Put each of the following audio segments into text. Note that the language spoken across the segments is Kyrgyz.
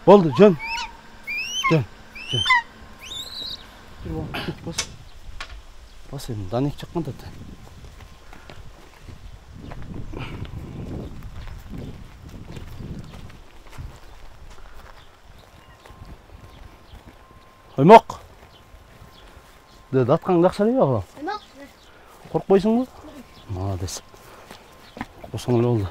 Болду, жөн. Бас эми данек чыккан да. Оймок. Дед аткаң жакшы эле багы. Оймок. Коркпойсуңбу? Молодец. Корксоң эле болду.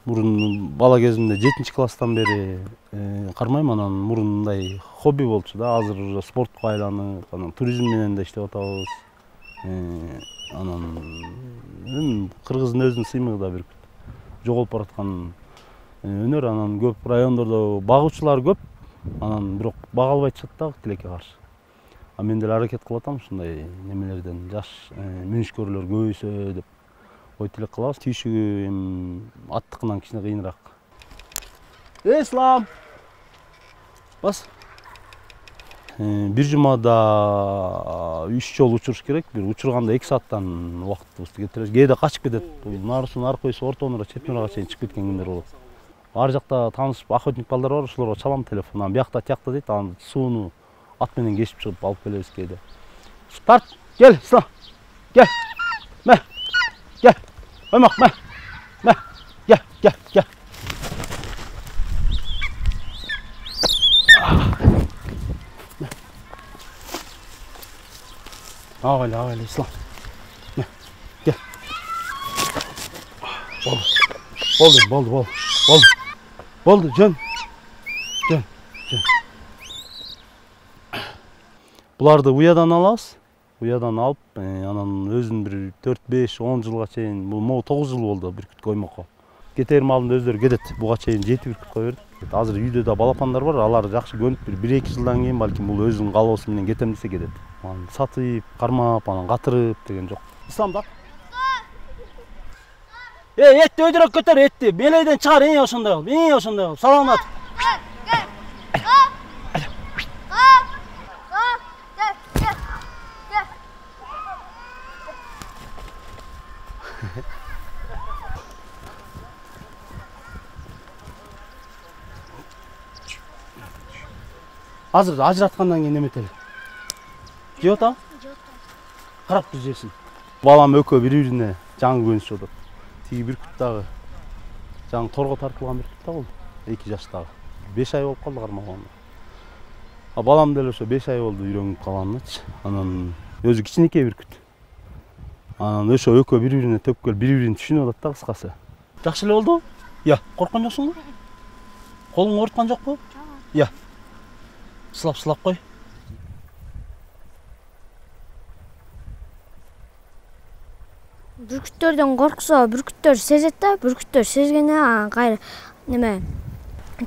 Мурун бала кезимде 7-класстан бери кармайм, анан мурун мындай хобби болчу да. Азыр уже спортко айланып, анан туризм менен да иштеп атабыз. Анан кыргыздын өзүнүн сыймыгы да бир жоголуп бараткан өнөр. Анан көп райондордо багуучулар көп, анан бирок бага албай атышат да тилекке каршы. А мен деле аракет кылып атам ушундай немелерден жаш мүнүшкөрлөр көбөйсө деп ой тилек кылабыз. Түйшүгү эми аттыкынан кичине кыйыныраак. Ислам. Бас. Бир жумада 3 жолу учуруш керек. Бир учурганда 2 сааттан убактыбызды кетиребиз. Кээде качып кетет. Нарысынын аркойсу ортонура Чепнурага чейин чыгып кеткен күндөр болот. Ар жакта таанышып охотник балдар бар, ошолорго чалам телефон. Анан биякта тиякта дейт, анан сууну ат менен кешип чыгып алып келебиз кээде. Тарт, кел, Ислам. Кел. Ме. Кел. Оймок, ме. Кел. Агайлы, Ислам. Кел. Болду, жөн. Буларды уядан алабыз. Уядан алып, анан өзүн бир 4-5-10 жылга чейин, могу 9 жыл болду бүркүткө оймокко. Кетерим алдында өздөрү кетет. Буга чейин 7 бүркүт коюп бердик. Азыр үйдө да балапандар бар, алар жакшы көнүп, бир 1-2 жылдан кийин балким бул өзүнүн каалоосу менен кетем десе кетет. Анан сатып, кармап, анан катырып деген жок. Ислам да. Этти өйдөрөк көтөр, этти. Белейден чыгар, ошондой кылып. Саламат. Азыр ажыраткандан кийин неметели. Жеп атам? Карап тур жесин. Балам экөө бири-бирине жаңы көнүшүп атат. Тиги бүркүт дагы жаңы торго тартылган бүркүт да болду. 2 жаштагы. 5 ай болуп калды кармаганда. А балам деле ошо 5 ай болду үйрөнүп калганычы. Анан өзү кичинекей бүркүт. Анан ошо экөө бири-бирине төп келип, бири-бирин түшүнүп атат да кыскасы. Жакшы эле болду? Я, корккон жоксуңбу? Колуң ооруткан жокпу? Я. Сылап кой. Бүркүттөрдөн корксо, бүркүттөр сезет да, бүркүттөр сезгенде кайра неме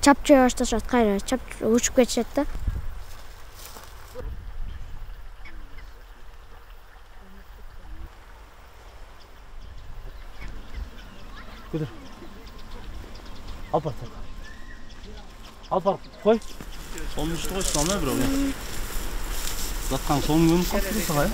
чапчыга башташат, кайра учуп кетишет да. Көтөр. Алып бар, кой. Сонун ишти койсуң, ана бирок. Заткан сонун көнүп калды сага, э?